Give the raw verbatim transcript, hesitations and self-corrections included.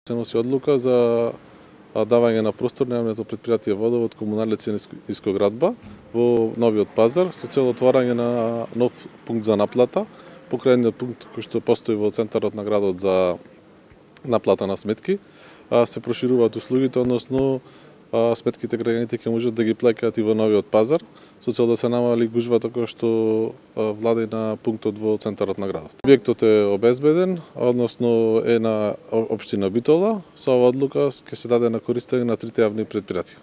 Се носи одлука за давање на простор на јавното претпријатие Водовод комуналици Искоградба во новиот пазар со цел отворање на нов пункт за наплата, покрајниот пункт кој што постои во центарот на градот за наплата на сметки. Се прошируваат услугите, односно сметките граѓаните ќе можат да ги плаќаат и во новиот пазар, со цел да се намали гужвата која што влади на пунктот во центарот на градот. Објектот е обезбеден, односно е на општина Битола. Со оваа одлука ќе се даде на користење на трите јавни претпријатија.